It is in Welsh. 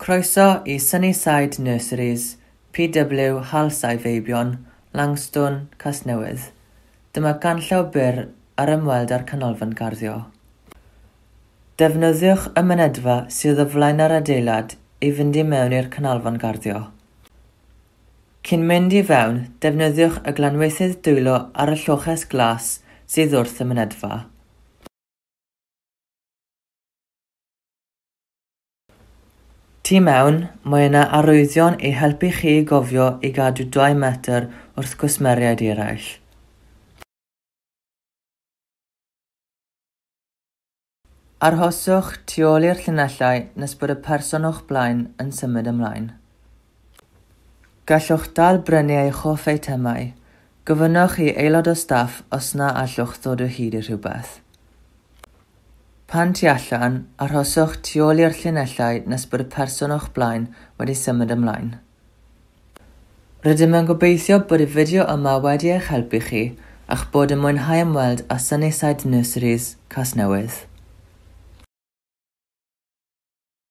Croeso i Sunnyside Nurseries, PW Halsau Feibion, Langstone, Casnewydd. Dyma ganllaw byr ar ymweld â'r canolfan garddio. Defnyddiwch y mynedfa sydd o flaen yr adeilad i fynd i mewn i'r canolfan garddio. Cyn mynd i fewn, defnyddiwch y glanweithydd dwylo ar y lloches glas sydd wrth y mynedfa. Tu mewn, mae yna arwyddion i helpu chi i gofio i gadw 2 metr wrth gwsmeriaid eraill. Arhoswch tu ôl i'r llinellau nes bod y person o'ch blaen yn symud ymlaen. Gallwch dal brynu eich hoff eitemau. Gofynnwch i aelod o staff os na allwch ddod o hyd i rhywbeth. Pan tu allan, arhoswch tu ôl i'r llinellau nes bod y person o'ch blaen wedi symud ymlaen. Rydym yn gobeithio bod y fideo yma wedi eich helpu chi a'ch bod yn mwynhau ymweld â Sunnyside Nurseries, Casnewydd.